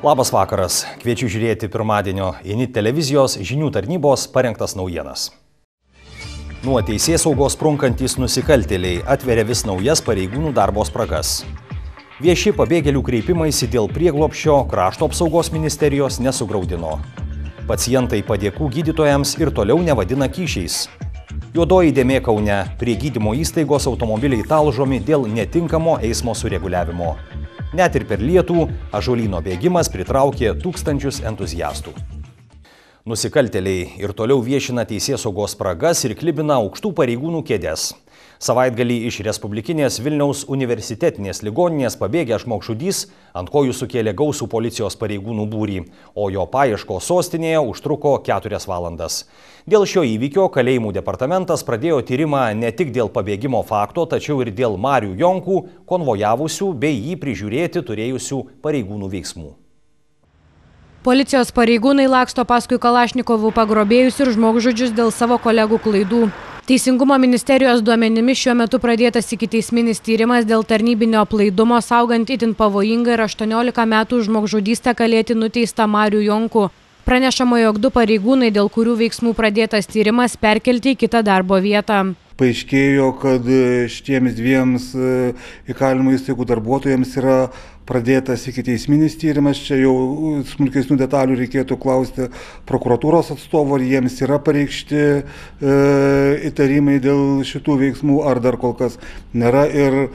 Labas vakaras. Kviečiu žiūrėti pirmadienio INIT televizijos žinių tarnybos parengtas naujienas. Nuo teisėsaugos sprunkantys nusikaltėliai atveria vis naujas pareigūnų darbo spragas. Vieši pabėgėlių kreipimaisi dėl prieglobsčio Krašto apsaugos ministerijos nesugraudino. Pacientai padėkų gydytojams ir toliau nevadina kyšiais. Juodoji dėmė Kaune. Prie gydymo įstaigos automobiliai talžomi dėl netinkamo eismo sureguliavimo. Net ir per lietų ąžuolyno bėgimas pritraukė tūkstančius entuziastų. Nusikaltėliai ir toliau viešina teisėsaugos spragas ir klibina aukštų pareigūnų kėdes. Savaitgalį iš Respublikinės Vilniaus universitetinės ligoninės pabėgęs žmogžudys ant kojų sukėlė gausų policijos pareigūnų būrį, o jo paieškos sostinėje užtruko 4 valandas. Dėl šio įvykio kalėjimų departamentas pradėjo tyrimą ne tik dėl pabėgimo fakto, tačiau ir dėl Marių Jonkų konvojavusių bei jį prižiūrėti turėjusių pareigūnų veiksmų. Policijos pareigūnai laksto paskui Kalašnikovų pagrobėjus ir žmogžudžius dėl savo kolegų klaidų. Teisingumo ministerijos duomenimis šiuo metu pradėtas ikiteisminis tyrimas dėl tarnybinio aplaidumo saugant itin pavojingą ir 18 metų žmogžudystę kalėti nuteistą Marių Jonkų. Pranešama, jog 2 pareigūnai, dėl kurių veiksmų pradėtas tyrimas, perkelti į kitą darbo vietą. Paaiškėjo, kad šitiems 2 įkalinimo įstaigų darbuotojams yra pradėtas ikiteisminis tyrimas. Čia jau smulkesnių detalių reikėtų klausti prokuratūros atstovų, ar jiems yra pareikšti įtarimai dėl šitų veiksmų, ar dar kol kas nėra. Ir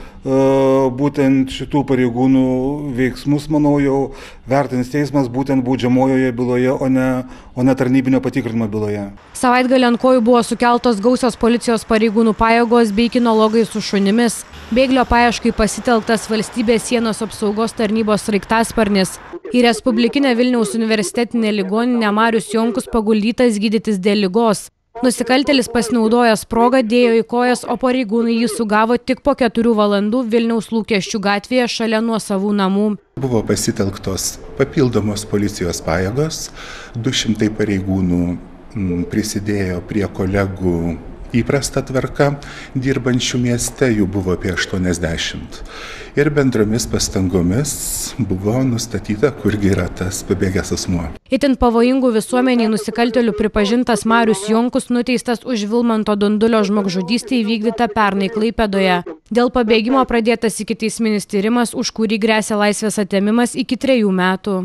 būtent šitų pareigūnų veiksmus, manau, jau vertins teismas būtent baudžiamojoje byloje, o ne tarnybinio patikrinimo byloje. Savaitgalį ant kojų buvo sukeltos gausios policijos pareigūnų pajėgos bei kinologai su šunimis. Bėglio paieškai pasitelktas valstybės sienos apsaugos tarnybos sraigtasparnis. Į Respublikinę Vilniaus universitetinę ligoninę Marius Jonkus paguldytas gydytis dėl ligos. Nusikaltėlis pasinaudojęs progą dėjo į kojas, o pareigūnai jį sugavo tik po 4 valandų Vilniaus Lūkesčių gatvėje šalia nuosavų namų. Buvo pasitelktos papildomos policijos pajėgos, 200 pareigūnų prisidėjo prie kolegų įprasta tvarka dirbančių mieste, jų buvo apie 80. Ir bendromis pastangomis buvo nustatyta, kurgi yra tas pabėgęs asmuo. Itin pavojingų visuomeniai nusikaltėlių pripažintas Marius Jonkus nuteistas už Vilmanto Dundulio žmogžudystę įvykdytą pernai Klaipėdoje. Dėl pabėgimo pradėtas ikiteisminis tyrimas, už kurį gresia laisvės atėmimas iki 3 metų.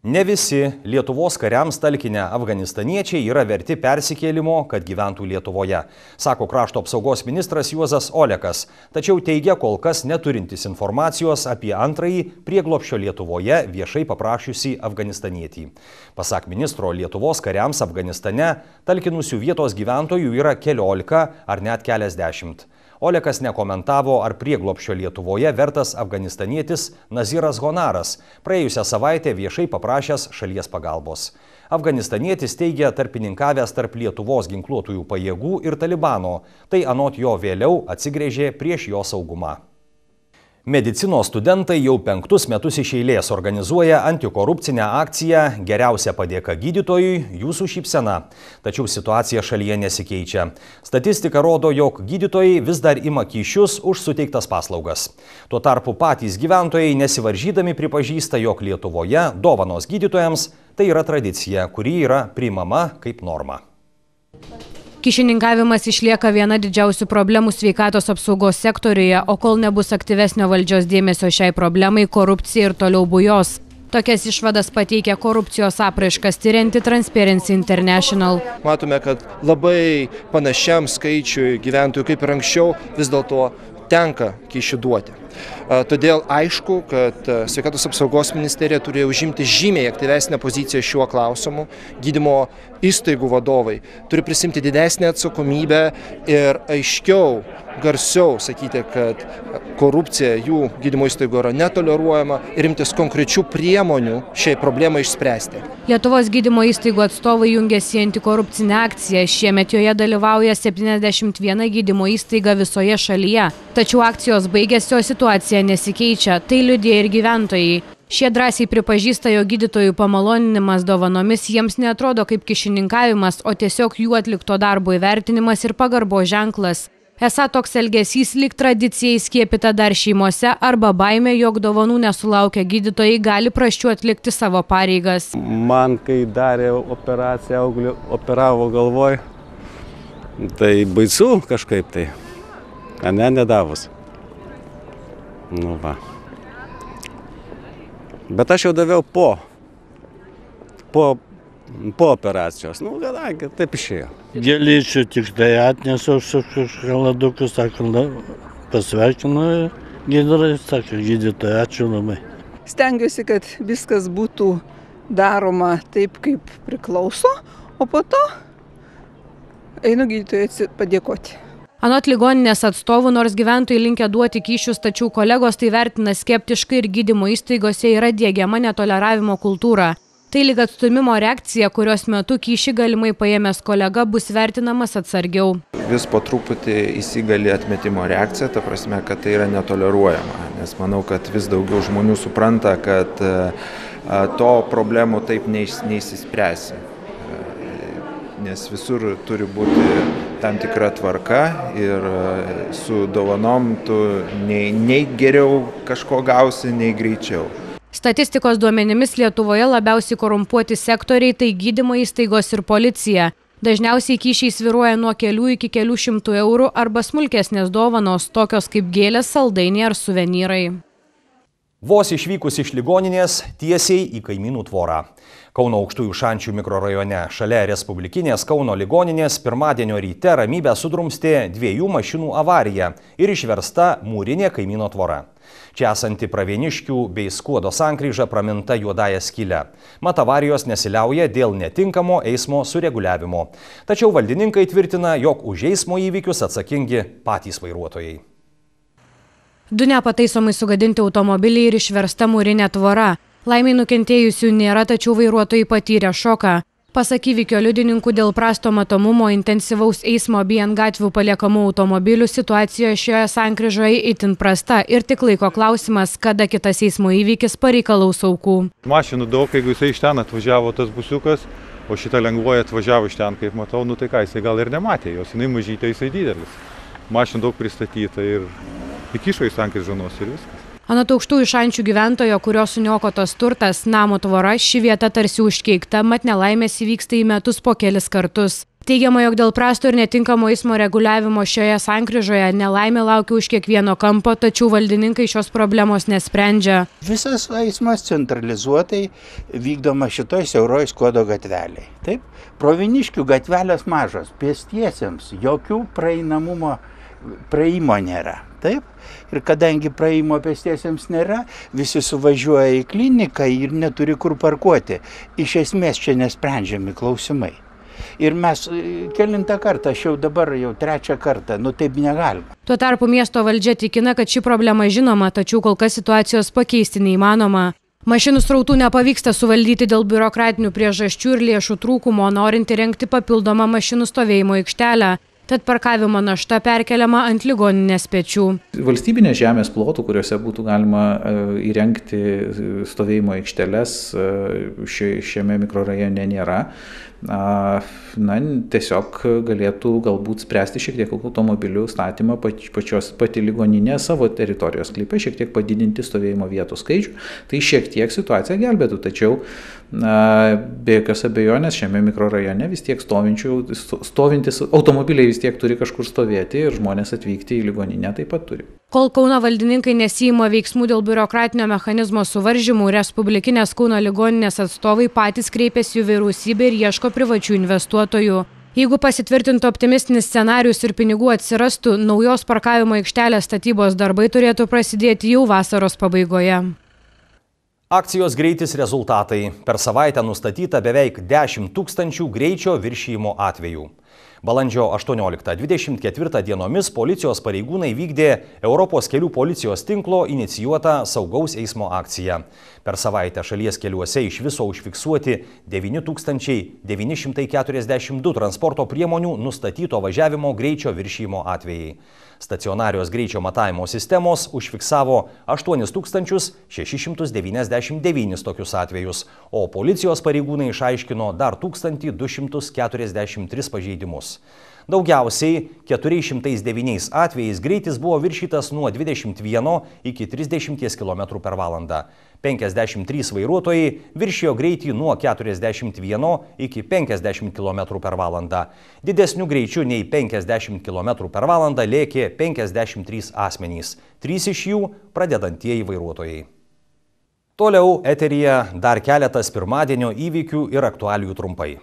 Ne visi Lietuvos kariams talkinę afganistaniečiai yra verti persikėlimo, kad gyventų Lietuvoje, sako Krašto apsaugos ministras Juozas Olekas, tačiau teigia kol kas neturintis informacijos apie antrąjį prieglobsčio Lietuvoje viešai paprašiusį afganistanietį. Pasak ministro, Lietuvos kariams Afganistane talkinusių vietos gyventojų yra 14 ar net keliasdešimt. Olekas nekomentavo, ar prieglobsčio Lietuvoje vertas afganistanietis Naziras Honaras, praėjusią savaitę viešai paprašęs šalies pagalbos. Afganistanietis teigia tarpininkavęs tarp Lietuvos ginkluotųjų pajėgų ir Talibano, tai anot jo vėliau atsigręžė prieš jo saugumą. Medicinos studentai jau 5 metus iš eilės organizuoja antikorupcinę akciją Geriausia padėka gydytojui, jūsų šypsena. Tačiau situacija šalyje nesikeičia. Statistika rodo, jog gydytojai vis dar ima kyšius už suteiktas paslaugas. Tuo tarpu patys gyventojai nesivaržydami pripažįsta, jog Lietuvoje dovanos gydytojams tai yra tradicija, kuri yra priimama kaip norma. Kyšininkavimas išlieka viena didžiausių problemų sveikatos apsaugos sektoriuje, o kol nebus aktyvesnio valdžios dėmesio šiai problemai, korupcija ir toliau bujos. Tokias išvadas pateikia korupcijos apraiškas tyrianti Transparency International. Matome, kad labai panašiam skaičiui gyventojų kaip ir anksčiau vis dėlto tenka kyšių duoti. Todėl aišku, kad sveikatos apsaugos ministerija turėjo užimti žymiai aktyvesnę poziciją šiuo klausimu. Gydymo įstaigų vadovai turi prisimti didesnę atsakomybę ir aiškiau, garsiau sakyti, kad korupcija jų gydymo įstaigų yra netoleruojama ir imtis konkrečių priemonių šiai problemai išspręsti. Lietuvos gydymo įstaigų atstovai jungiasi į antikorupcinę akciją. Šiemet joje dalyvauja 71 gydymo įstaiga visoje šalyje. Tačiau akcijos baigėsi, o situacija nesikeičia. Tai liudija ir gyventojai. Šie drąsiai pripažįsta, jo gydytojų pamaloninimas dovanomis jiems neatrodo kaip kyšininkavimas, o tiesiog jų atlikto darbo įvertinimas ir pagarbo ženklas. Esą toks elgesys lyg tradicija įskiepyta dar šeimose arba baimė, jog dovanų nesulaukę gydytojai gali prasčiau atlikti savo pareigas. Man, kai darė operaciją, auglį operavo galvoj, tai baisu kažkaip tai, nedavus. Nu va. Bet aš jau daviau po operacijos. Nu, kadangi taip išėjo. Gėlyčių tik tai atnesu su šokoladuku, sako, pasveikinu gydytojai, sako, gydytojai, ačiū labai. Stengiuosi, kad viskas būtų daroma taip, kaip priklauso, o po to einu gydytojai padėkoti. Anot ligoninės atstovų, nors gyventojai linkę duoti kyšius, tačiau kolegos tai vertina skeptiškai ir gydymo įstaigose yra diegiama netoleravimo kultūra. Tai lyg atstūmimo reakcija, kurios metu kyšį galimai paėmęs kolega bus vertinamas atsargiau. Vis po truputį įsigali atmetimo reakcija, ta prasme, kad tai yra netoleruojama. Nes manau, kad vis daugiau žmonių supranta, kad to problemų taip neišsispręsi. Nes visur turi būti tam tikra tvarka ir su dovanom tu nei geriau kažko gausi, nei greičiau. Statistikos duomenimis Lietuvoje labiausiai korumpuoti sektoriai tai gydymo įstaigos ir policija. Dažniausiai kyšiai svyruoja nuo kelių iki kelių šimtų eurų arba smulkesnės dovanos, tokios kaip gėlės, saldainiai ar suvenyrai. Vos išvykus iš ligoninės tiesiai į kaimynų tvorą. Kauno Aukštųjų Šančių mikrorajone šalia Respublikinės Kauno ligoninės pirmadienio ryte ramybę sudrumstė 2 mašinų avarija ir išversta mūrinė kaimyno tvora. Čia esanti Pravieniškių bei Skuodo sankryža praminta juodąja skyle. Mat avarijos nesiliauja dėl netinkamo eismo sureguliavimo. Tačiau valdininkai tvirtina, jog už eismo įvykius atsakingi patys vairuotojai. 2 nepataisomai sugadinti automobiliai ir išversta mūrinė tvora. Laimiai nukentėjusių nėra, tačiau vairuotojai patyrė šoką. Pasak įvykio liudininkų, dėl prasto matomumo, intensyvaus eismo bei ant gatvių paliekamų automobilių situacija šioje sankryžoje itin prasta ir tik laiko klausimas, kada kitas eismo įvykis pareikalaus aukų. Mašinų daug, jeigu jisai iš ten atvažiavo tas busiukas, o šitą lengvoje atvažiavo iš ten, kaip matau, nu tai ką, jisai gal ir nematė, jos jinai mažytė, jisai didelis. Mašinų daug pristatyta ir įkišo į sankryžą nosį ir viskas. Anot Aukštųjų Šančių gyventojo, kurio suniokotas turtas, namo tvora, ši vieta tarsi užkeikta, mat nelaimės įvyksta į metus po kelis kartus. Teigiama, jog dėl prasto ir netinkamo eismo reguliavimo šioje sankryžoje nelaimė laukia už kiekvieno kampo, tačiau valdininkai šios problemos nesprendžia. Visas eismas centralizuotai vykdoma šitoj siauroj Skuodo gatveliai. Taip, Pravieniškių gatvelės mažos, pėstiesiems jokių praėjimo nėra. Taip, ir kadangi praėjimo pėstiesiems nėra, visi suvažiuoja į kliniką ir neturi kur parkuoti. Iš esmės čia nesprendžiami klausimai. Ir mes kelintą kartą, aš jau dabar jau 3 kartą, nu taip negalima. Tuo tarpu miesto valdžia tikina, kad ši problema žinoma, tačiau kol kas situacijos pakeisti neįmanoma. Mašinų srautų nepavyksta suvaldyti dėl biurokratinių priežasčių ir lėšų trūkumo, norint įrengti papildomą mašinų stovėjimo aikštelę. Tad parkavimo našta perkeliama ant ligoninės pečių. Valstybinės žemės plotų, kuriuose būtų galima įrengti stovėjimo aikšteles, šiame mikrorajone nėra. Tiesiog galėtų galbūt spręsti šiek tiek automobilių statymą pati ligoninė savo teritorijos sklype, šiek tiek padidinti stovėjimo vietų skaičių. Tai šiek tiek situaciją gelbėtų, tačiau be jokios abejonės šiame mikrorajone vis tiek stovintis automobiliai vis tiek turi kažkur stovėti ir žmonės atvykti į ligoninę taip pat turi. Kol Kauno valdininkai nesiima veiksmų dėl biurokratinio mechanizmo suvaržymų, Respublikinės Kauno ligoninės atstovai patys kreipėsi į vyriausybę ir ieško privačių investuotojų. Jeigu pasitvirtintų optimistinis scenarius ir pinigų atsirastų, naujos parkavimo aikštelės statybos darbai turėtų prasidėti jau vasaros pabaigoje. Akcijos greitis rezultatai. Per savaitę nustatyta beveik 10 000 greičio viršijimo atvejų. Balandžio 18-24 dienomis policijos pareigūnai vykdė Europos kelių policijos tinklo inicijuotą saugaus eismo akciją. Per savaitę šalies keliuose iš viso užfiksuoti 9942 transporto priemonių nustatyto važiavimo greičio viršijimo atvejai. Stacionarios greičio matavimo sistemos užfiksavo 8699 tokius atvejus, o policijos pareigūnai išaiškino dar 1243 pažeidimus. eismus. Daugiausiai 409 atvejais greitis buvo viršytas nuo 21 iki 30 km per valandą. 53 vairuotojai viršijo greitį nuo 41 iki 50 km per valandą. Didesnių greičių nei 50 km per valandą lėkė 53 asmenys, 3 iš jų pradedantieji vairuotojai. Toliau eteryje dar keletas pirmadienio įvykių ir aktualijų trumpai.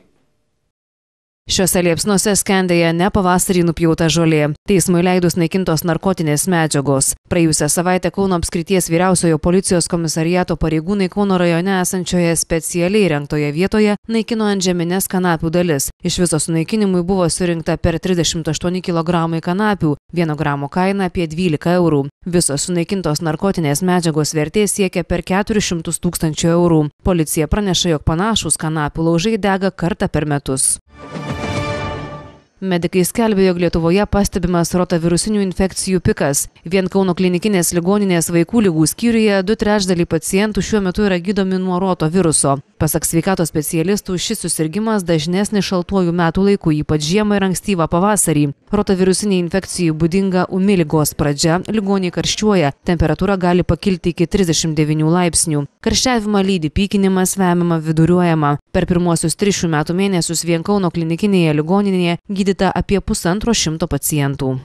Šiuose liepsnuose skendėja ne pavasarį nupjauta žolė. Teismui leidus naikintos narkotinės medžiagos. Praėjusią savaitę Kauno apskrities vyriausiojo policijos komisariato pareigūnai Kauno rajone esančioje specialiai įrengtoje vietoje naikino antžemines kanapių dalis. Iš viso sunaikinimui buvo surinkta per 38 kg kanapių, 1 gramo kaina apie 12 eurų. Visos sunaikintos narkotinės medžiagos vertė siekia per 400 000 eurų. Policija praneša, jog panašūs kanapių laužai dega kartą per metus. Medikai skelbė, jog Lietuvoje pastebimas rotavirusinių infekcijų pikas. Vien Kauno klinikinės ligoninės vaikų ligų skyriuje 2/3 pacientų šiuo metu yra gydomi nuo rotaviruso. Pasak sveikatos specialistų, šis susirgimas dažnesnis šaltuoju metų laiku, ypač žiemą ir ankstyvą pavasarį. Rotavirusiniai infekcijų būdinga ūmi ligos pradžia, ligoniai karščiuoja, temperatūra gali pakilti iki 39 laipsnių. Karščiavimą lydi pykinimas, vemiama, viduriuojama. Per pirmuosius 3 šių metų mėnesius vien Kauno klinikinėje ligoninėje gydyta apie 150 pacientų.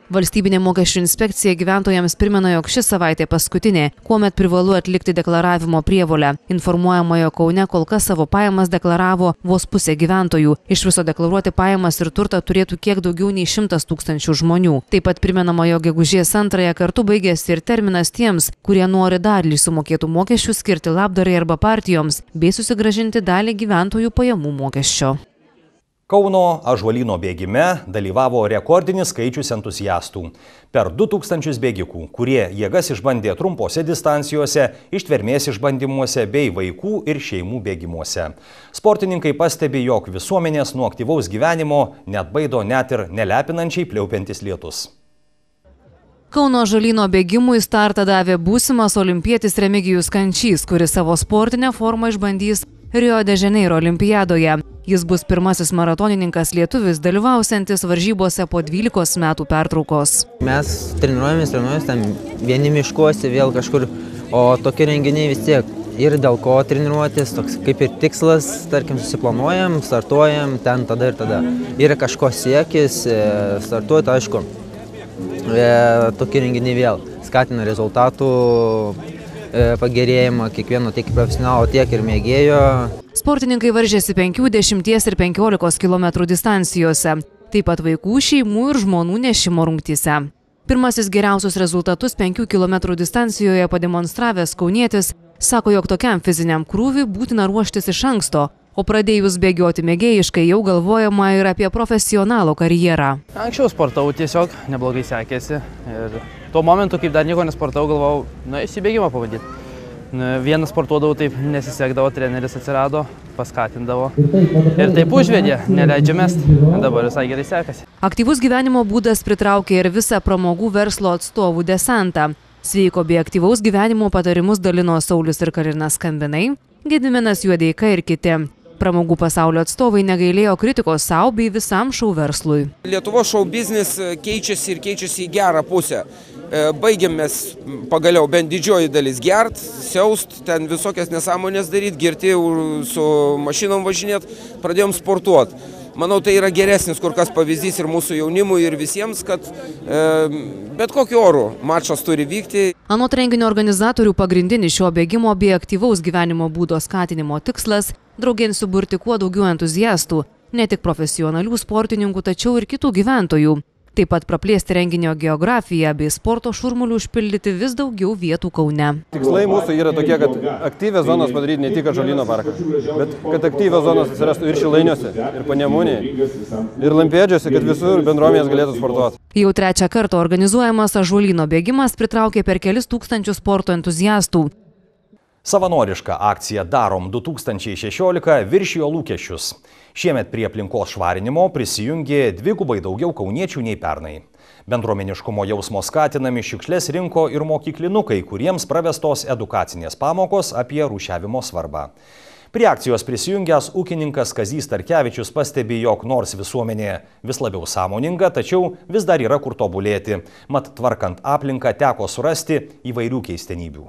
Valstybinė mokesčių inspekcija gyventojams primena, jog ši savaitė paskutinė, kuomet privalu atlikti deklaravimo prievolę. Informuojama, jog Kaune kol kas savo pajamas deklaravo vos pusė gyventojų. Iš viso deklaruoti pajamas ir turtą turėtų kiek daugiau nei 100 000 žmonių. Taip pat primenama, jog gegužės 2 kartu baigėsi ir terminas tiems, kurie nori dalį sumokėtų mokesčių skirti labdarai arba partijoms, bei susigrąžinti dalį gyventojų pajamų mokesčio. Kauno ąžuolyno bėgime dalyvavo rekordinis skaičius entuziastų. Per 2000 bėgikų, kurie jėgas išbandė trumpose distancijose, ištvermės išbandymuose bei vaikų ir šeimų bėgimuose. Sportininkai pastebi, jog visuomenės nuo aktyvaus gyvenimo neatbaido net ir nelepinančiai pliaupiantis lietus. Kauno ąžuolyno bėgimui startą davė būsimas olimpietis Remigijus Kančys, kuris savo sportinę formą išbandys Rio de Janeiro olimpiadoje. Jis bus pirmasis maratonininkas lietuvis, dalyvausiantis varžybose po 12 metų pertraukos. Mes treniruojamės ten vieni miškuose, vėl kažkur, o tokie renginiai vis tiek ir dėl ko treniruotis, toks kaip ir tikslas, tarkim, susiplanuojam, startuojam ten tada ir tada. Yra kažko siekis, startuoti, aišku, tokie renginiai vėl skatina rezultatų pagerėjimą kiekvieno tiek profesionalo, tiek ir mėgėjo. Sportininkai varžėsi 5, 10 ir 15 km distancijose, taip pat vaikų, šeimų ir žmonų nešimo rungtyse. Pirmasis geriausius rezultatus 5 km distancijoje pademonstravęs kaunietis sako, jog tokiam fiziniam krūviui būtina ruoštis iš anksto, o pradėjus bėgioti mėgėjiškai jau galvojama ir apie profesionalo karjerą. Anksčiau sportavau tiesiog, neblogai sekėsi ir tuo momentu, kaip dar nieko nesportavau, galvojau, įsibėgimą pavadyti. Vienas sportuodavau, taip nesisekdavo, treneris atsirado, paskatindavo ir taip užvedė, neleidžia mest, dabar visai gerai sekasi. Aktyvus gyvenimo būdas pritraukė ir visą pramogų verslo atstovų desantą. Sveiko bei aktyvaus gyvenimo patarimus dalino Saulius ir Karina Skambinai, Gediminas Juodeika ir kiti. Pramogų pasaulio atstovai negailėjo kritikos savo bei visam šou verslui. Lietuvos šou biznis keičiasi ir keičiasi į gerą pusę. Baigėm mes pagaliau bent didžioji dalis gert, siaust, ten visokias nesąmonės daryti, girti su mašinom važinėt, pradėjom sportuoti. Manau, tai yra geresnis kur kas pavyzdys ir mūsų jaunimui ir visiems, kad bet kokiu oru mačas turi vykti. Anot renginio organizatorių pagrindinis šio bėgimo bei aktyvaus gyvenimo būdo skatinimo tikslas – draugėn suburti kuo daugiau entuziastų, ne tik profesionalių sportininkų, tačiau ir kitų gyventojų. Taip pat praplėsti renginio geografiją bei sporto šurmulių užpildyti vis daugiau vietų Kaune. Tikslai mūsų yra tokie, kad aktyvias zonas padaryti ne tik ąžuolyno parką, bet kad aktyvios zonos atsirastų ir Šilainiuose, ir Panemunėje, ir Lampėdžiuose, kad visur bendruomenės galėtų sportuoti. Jau 3 kartą organizuojamas ąžuolyno bėgimas pritraukė per kelis tūkstančius sporto entuziastų. Savanoriška akcija Darom 2016 viršijo lūkesčius. Šiemet prie aplinkos švarinimo prisijungė 2 daugiau kauniečių nei pernai. Bendruomeniškumo jausmo skatinami šiukšles rinko ir mokyklinukai, kuriems pravestos edukacinės pamokos apie rūšiavimo svarbą. Prie akcijos prisijungęs ūkininkas Kazys Starkevičius pastebi, jog nors visuomenė vis labiau sąmoninga, tačiau vis dar yra kur tobulėti. Mat tvarkant aplinką teko surasti įvairių keistenybių.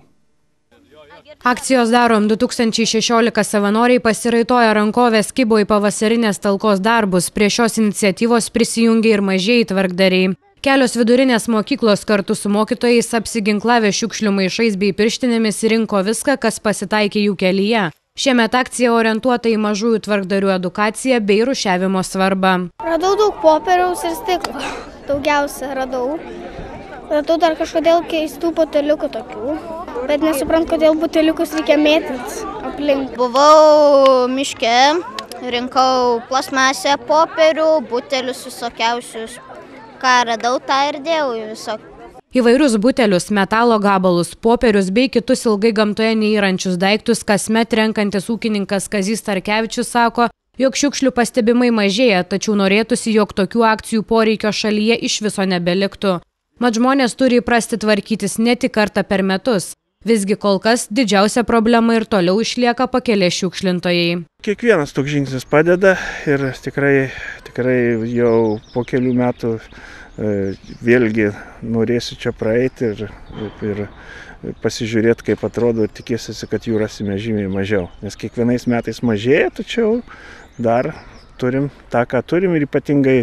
Akcijos Darom 2016 savanoriai pasiraitojo rankovės, kibo į pavasarinės talkos darbus. Prie šios iniciatyvos prisijungė ir mažieji tvarkdariai. Kelios vidurinės mokyklos kartu su mokytojais apsiginklavę šiukšlių maišais bei pirštinėmis rinko viską, kas pasitaikė jų kelyje. Šiemet akcija orientuota į mažųjų tvarkdarių edukaciją bei rūšiavimo svarbą. Radau daug popieriaus ir stiklo. Daugiausia radau. Radau dar kažkodėl keistų buteliukų tokių. Bet nesuprantu, kodėl buteliukus reikia mėtyti aplink. Buvau miške, rinkau plasmasę, popierių, butelius visokiausius. Ką radau, tą ir dėjau visok. Įvairius butelius, metalo gabalus, popierius bei kitus ilgai gamtoje neįrančius daiktus kasmet renkantis ūkininkas Kazys Starkevičius sako, jog šiukšlių pastebimai mažėja, tačiau norėtųsi, jog tokių akcijų poreikio šalyje iš viso nebeliktų. Mat žmonės turi įprasti tvarkytis ne tik kartą per metus. Visgi kol kas didžiausia problema ir toliau išlieka pakelės šiukšlintojai. Kiekvienas toks žingsnis padeda ir tikrai jau po kelių metų vėlgi norėsiu čia praeiti ir pasižiūrėti, kaip atrodo, ir tikėsiu, kad jų rasime žymiai mažiau. Nes kiekvienais metais mažėja, tačiau dar turim tą, ką turim, ir ypatingai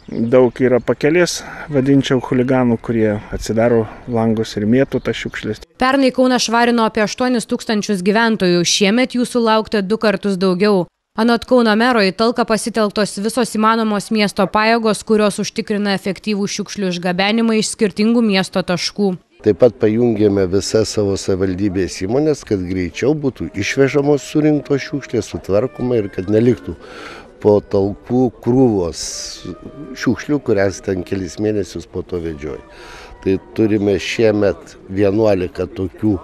daug yra pakelės, vadinčiau, chuliganų, kurie atsidaro langus ir mėtų tas šiukšlės. Pernai Kauną švarino apie 8 000 gyventojų, šiemet jų sulaukta 2 kartus daugiau. Anot Kauno mero į talką pasitelktos visos įmanomos miesto pajėgos, kurios užtikrina efektyvų šiukšlių išgabenimą iš skirtingų miesto taškų. Taip pat pajungėme visas savo savivaldybės įmonės, kad greičiau būtų išvežamos surinktos šiukšlės, sutvarkoma ir kad neliktų po talkų krūvos šiukšlių, kurias ten kelis mėnesius po to vedžioja. Tai turime šiemet 11 tokių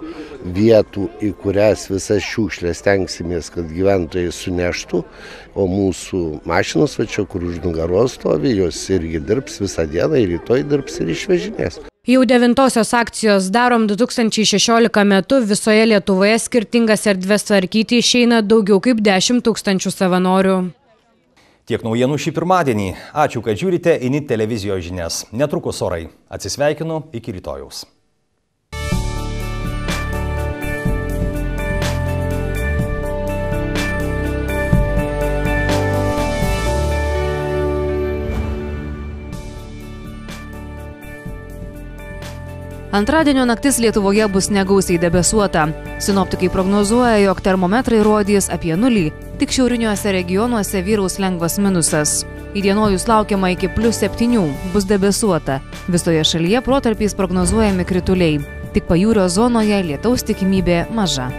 vietų, į kurias visas šiukšlės tenksimės, kad gyventojai suneštų, o mūsų mašinos, čia kur už nugaros stovi, jos irgi dirbs visą dieną ir rytoj dirbs ir išvežinės. Jau 9-osios akcijos Darom 2016 metu visoje Lietuvoje skirtingas erdves tvarkyti išeina daugiau kaip 10 000 savanorių. Tiek naujienų šį pirmadienį. Ačiū, kad žiūrite INIT televizijos žinias. Netrukus orai. Atsisveikinu, iki rytojaus. Antradienio naktis Lietuvoje bus negausiai debesuota. Sinoptikai prognozuoja, jog termometrai rodys apie 0, tik šiauriniuose regionuose vyraus lengvas minusas. Įdienojus laukiama iki +7, bus debesuota. Visoje šalyje protarpiais prognozuojami krituliai. Tik pajūrio zonoje lietaus tikimybė maža.